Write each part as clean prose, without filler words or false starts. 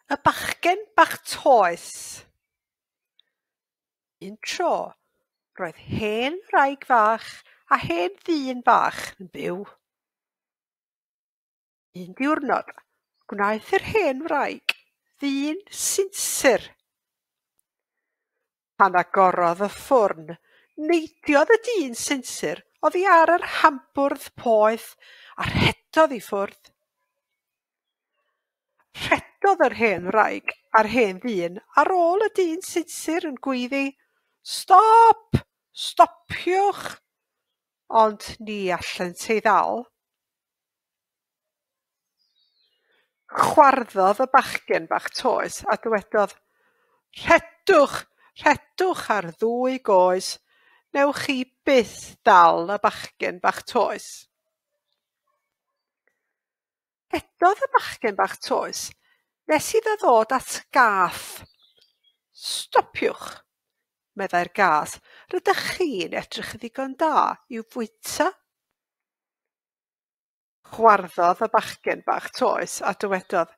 Y bachgen bach toes. Un tro, roedd hen wraig fach a hen ddyn bach yn byw. Un diwrnod, gwnaeth yr hen wraig ddyn sinsir. Pan agorodd y ffwrn, neidiodd y dyn sinsir oddi ar yr hambwrdd poeth a rhedodd i ffwrdd. Rhedodd yr hen wraig a'r hen ddyn ar ôl y dyn sinsir yn gweiddi, "Stop! Stopiwch!" Ond ni allent ei ddal. Chwarddodd y bachgen bach toes a dywedodd, "Rhedwch, rhedwch ar ddwy goes, newch chi byth ddal y bachgen bach toes." Rhedodd y bachgen bach toes nes iddo ddod at gath. "Stopiwch," meddai'r gath, "rydych chi'n edrych yn ddigon da i'w fwyta." Chwarddodd y bachgen bach toes a dywedodd,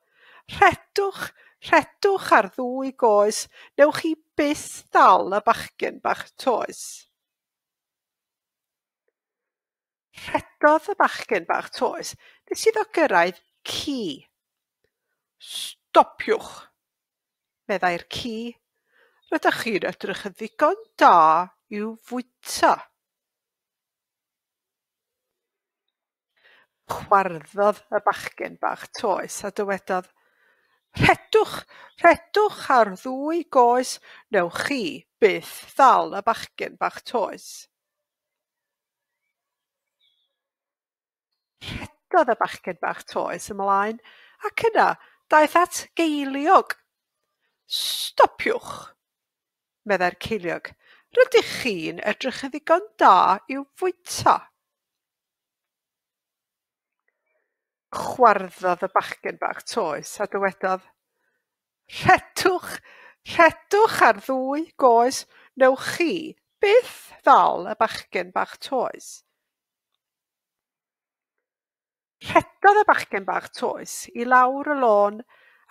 "Rhedwch, rhedwch ar ddwy goes, newch chi byth ddal y bachgen bach toes." Rhedodd y bachgen bach toes nes iddo gyrraedd ci. "Stopiwch," meddai'r ci, "rydych chi'n edrych yn ddigon da i'w fwyta." Chwarddodd y bachgen bach toes a dywedodd, "Rhedwch, rhedwch ar ddwy goes, newch chi byth ddal y bachgen bach toes." Rhedodd y bachgen bach toes ymlaen ac yna daeth at geiliog. "Stopiwch," meddai'r ceiliog, "rydych chi'n edrych yn ddigon da i'w fwyta." Chwarddodd y bachgen bach toes a dywedodd, "Rhedwch, rhedwch ar ddwy goes, newch chi byth ddal y bachgen bach toes." Rhedodd y bachgen bach toes i lawr y lôn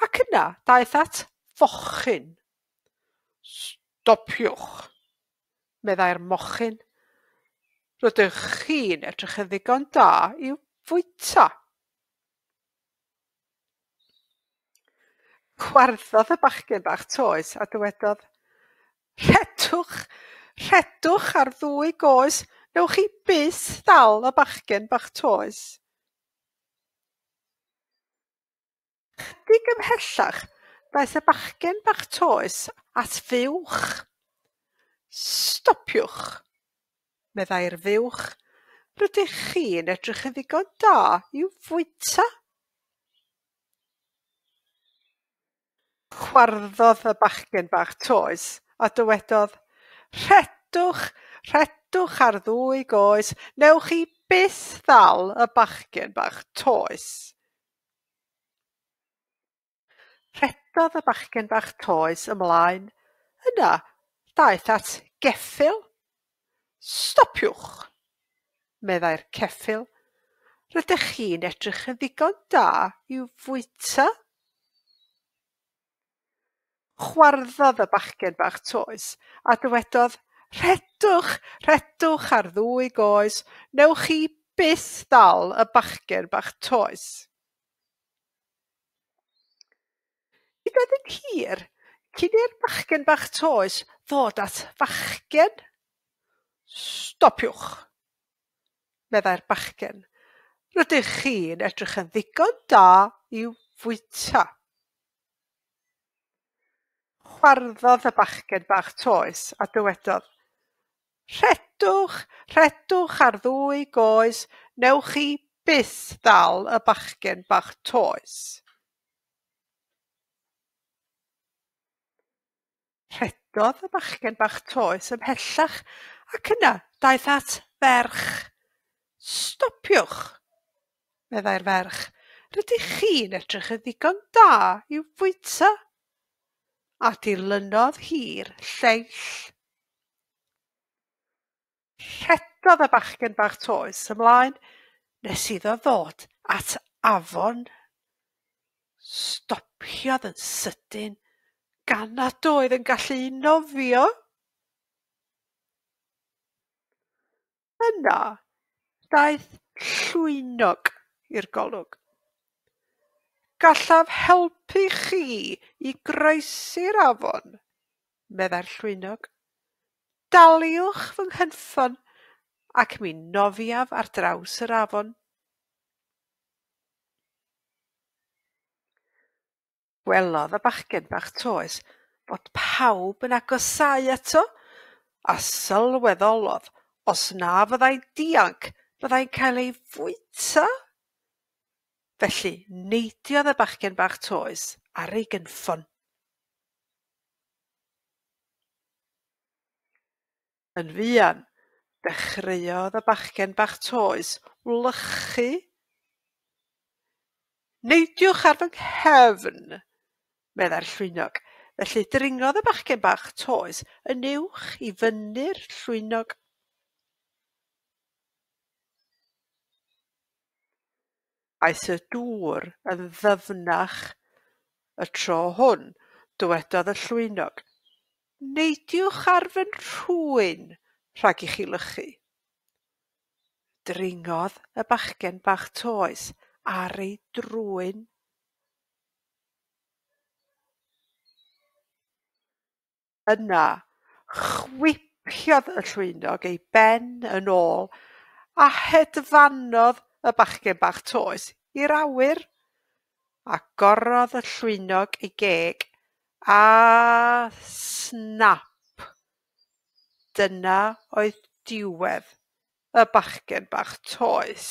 ac yna daeth at fochyn. "Stopiwch," meddai'r mochyn, "rydych chi'n edrych yn ddigon da i'w fwyta." Chwarddodd y bachgen bach toes a dywedodd, "Rhedwch, rhedwch ar ddwy goes, newch chi byth ddal y bachgen bach toes." Chydig ymhellach, daeth y bachgen bach toes at fuwch. "Stopiwch," meddai'r fuwch, "rydych chi'n edrych yn ddigon da i'w fwyta." Chwarddodd y bachgen bach toes a dywedodd, "Rhedwch, rhedwch ar ddwy goes, newch chi byth ddal y bachgen bach toes." Rhedodd y bachgen bach toes ymlaen, yna daeth at geffyl. "Stopiwch," meddai'r ceffyl, "rydych chi'n edrych yn ddigon da i'w fwyta." Chwarddodd y bachgen bach toes a dywedodd, "Rhedwch, rhedwch ar ddwy goes, newch chi byth ddal y bachgen bach toes." Nid oedd yn hir cyn i'r bachgen bach toes ddod at fachgen. "Stopiwch," meddai'r bachgen, "rydych chi'n edrych yn ddigon da i'w fwyta." Chwarddodd y bachgen bach toes a dywedodd, "Rhedwch, rhedwch ar ddwy goes, newch chi byth ddal y bachgen bach toes." Rhedodd y bachgen bach toes ymhellach ac yna daeth at ferch. "Stopiwch," meddai'r ferch, "rydych chi'n edrych yn ddigon da i'w fwyta." A dilynodd hi'r lleill. Rhedodd y bachgen bach toes ymlaen nes iddo ddod at afon. "Stopiwch," Stopiodd yn sydyn gan nad oedd yn gallu nofio. Yna, daeth llwynog i'r golwg. Gallaf helpu chi i groesi'r afon, meddai'r llwynog. Daliwch fy nghynffon ac mi nofiaf ar draws yr afon. Gwelodd y bachgen bach toes fod pawb yn agosáu ato, a sylweddolodd os na fyddai'n dianc byddai'n cael ei fwyta. Felly neidiodd y bachgen bach toes ar ei gynffon. Yn fuan, dechreuodd y bachgen bach toes wlychu. Neidiwch ar fy nghefn, meddai'r llwynog. Felly dringodd y bachgen bach toes yn uwch i fyny'r llwynog. Aeth y dŵr yn ddyfnach. Y tro hwn, dywedodd y llwynog, neidiwch ar fy nhrwyn rhag i chi lychu. Dringodd y bachgen bach toes ar ei drwyn. Yna, chwipiodd y llwynog ei ben yn ôl a hedfanodd y bachgen bach toes i'r awyr. Agorodd y llwynog ei geg a snap. Dyna oedd diwedd y bachgen bach toes.